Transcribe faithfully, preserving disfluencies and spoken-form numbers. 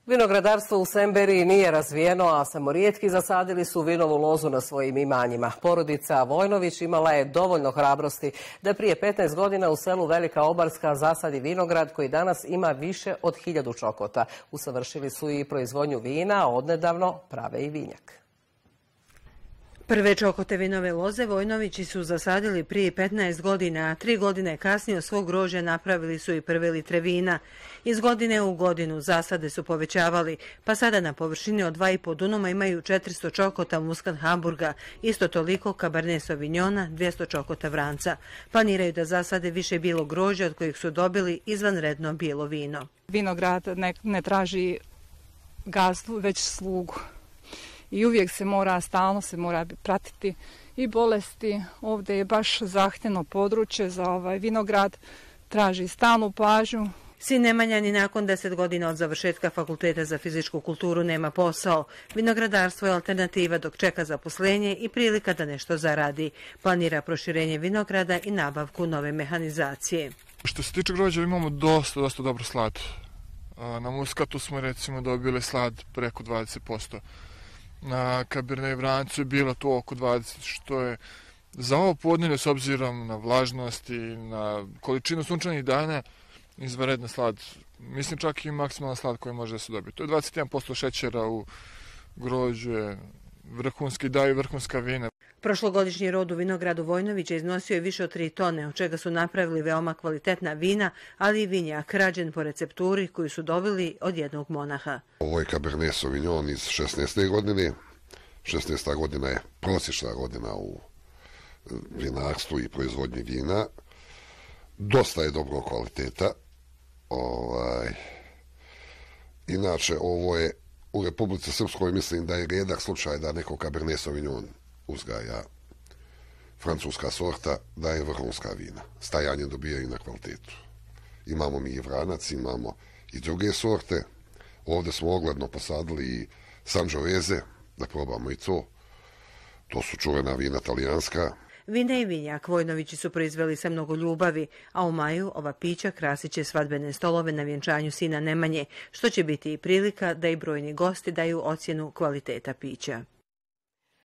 Vinogradarstvo u Semberiji nije razvijeno, a samo rijetki zasadili su vinovu lozu na svojim imanjima. Porodica Vojnović imala je dovoljno hrabrosti da prije petnaest godina u selu Velika Obarska zasadi vinograd koji danas ima više od hiljadu čokota. Usavršili su i proizvodnju vina, a odnedavno prave i vinjak. Prve čokote vinove loze Vojnovići su zasadili prije petnaest godina, a tri godine kasnije od svog grožđa napravili su i prve litre vina. Iz godine u godinu zasade su povećavali, pa sada na površini od dva i po dunuma imaju četiristo čokota Muscat Hamburga, isto toliko Cabernet Sauvignona, dvjesto čokota Vranca. Planiraju da zasade više bijelo grožđa od kojih su dobili izvanredno bijelo vino. Vinograd ne, ne traži gazdu, već slugu. I uvijek se mora, stalno se mora pratiti i bolesti. Ovdje je baš zahtjevno područje za ovaj vinograd, traži stalnu pažnju. Sin Nemanja ni nakon deset godina od završetka Fakulteta za fizičku kulturu nema posao. Vinogradarstvo je alternativa dok čeka zaposlenje i prilika da nešto zaradi. Planira proširenje vinograda i nabavku nove mehanizacije. Što se tiče grožđa imamo dosta, dosta dobro slad. Na Muskatu smo recimo dobili slad preko dvadeset posto. Na Cabernet Vrancu je bilo to oko dvadeset, što je za ovo podnevlje s obzirom na vlažnost i na količinu sunčanih dana izvanredna slad. Mislim čak i maksimalna slad koja može da se dobije. To je dvadeset jedan posto šećera u grožđu, vrhunski daju vrhunska vina. Prošlogodišnji rod u vinogradu Vojnovića iznosio je više od tri tone, od čega su napravili veoma kvalitetna vina, ali i vinjak rađen po recepturi koju su dobili od jednog monaha. Ovo je Cabernet Sauvignon iz šesnaeste godine. šesnaesta godina je prosječna godina u vinarstvu i proizvodnji vina. Dosta je dobrog kvaliteta. Ovaj. Inače, ovo je u Republici Srpskoj, mislim da je rijedak slučaj da neko Cabernet Sauvignon uzgaja francuska sorta, da je vrhunska vina. Stajanje dobijaju na kvalitetu. Imamo mi i Vranac, imamo i druge sorte. Ovdje smo ogledno posadili i Sangiovese, da probamo i to. To su čuvena vina talijanska. Vine i vinjak Vojnovići su proizveli sa mnogo ljubavi, a u maju ova pića krasit će svadbene stolove na vjenčanju sina Nemanje, što će biti i prilika da i brojni gosti daju ocjenu kvaliteta pića.